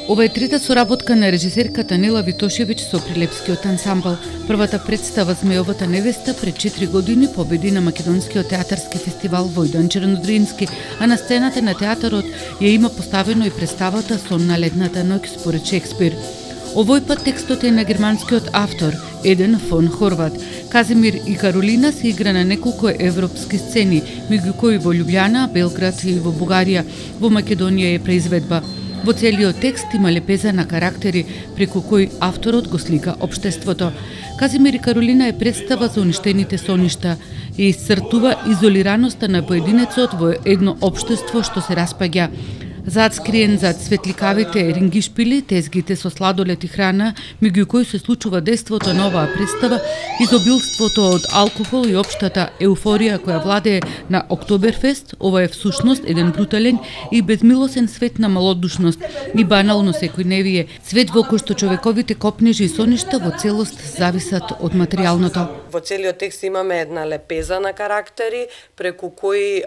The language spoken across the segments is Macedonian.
Ова е трета соработка на режисерката Нела Витошевиќ со Прилепскиот ансамбл. Првата представа Змејовата невеста пред 4 години победи на Македонскиот театарски фестивал Војдан Чернодрински, а на сцената на театарот ја има поставено и представата Сон на летната ноќ според Шекспир. Овој пат текстот е на германскиот автор Еден фон Хорват. Казимир и Каролина се игра на неколку европски сцени, меѓу кои во Љубљана, Белград и во Бугарија. Во Македонија е преизведба. Во целиот текст има лепеза на карактери, преку кои авторот го слика општеството. Казимир и Каролина е представа за уништените соништа и исцртува изолираноста на поединецот во едно општество што се распаѓа. Зад скриен зад светликавите рингишпили, тезгите со сладолед и храна, меѓу кои се случува действото на оваа представа, изобилството од алкохол и општата еуфорија која владее на Октоберфест, ова е всушност еден брутален и безмилосен свет на малодушност и банално секојневие, свет во кој што човековите копнежи и соништа во целост зависат од материјалното. Во целиот текст имаме една лепеза на карактери, преку кои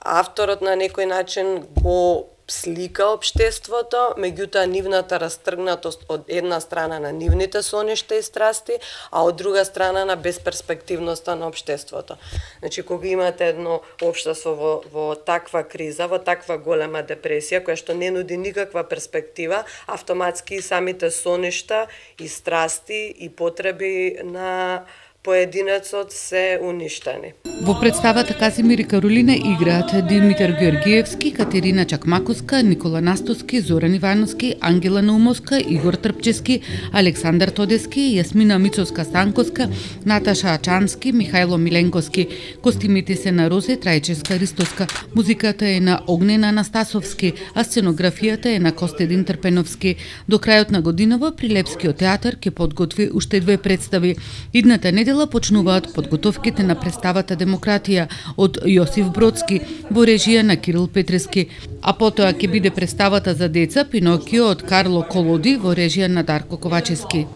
авторот на некој начин го слика општеството, меѓутоа нивната растргнатост од една страна на нивните соништа и страсти, а од друга страна на безперспективноста на општеството. Значи, кога имате едно општество во таква криза, во таква голема депресија, која што не нуди никаква перспектива, автоматски самите соништа и страсти и потреби на поединецот се уништени. Во представата Казимир и Каролина играат Димитар Георгиевски, Катерина Чакмаковска, Никола Настоски, Зоран Ивановски, Ангела Наумовска, Игор Трпчески, Александар Тодески, Јасмина Мицовска-Станковска, Наташа Ачански, Михајло Миленковски. Костимите се на Розе Трајчевска Ристоска, музиката е на Огнена Анастасовски, а сценографијата е на Костадин Трпеновски. До крајот на годинава Прилепскиот театар ќе подготви уште 2 представи. Идната недела почнуваат подготовките на представата Демократија од Јосиф Бродски во режија на Кирил Петрески, а потоа ќе биде представата за деца Пинокио од Карло Колоди во режија на Дарко Ковачевски.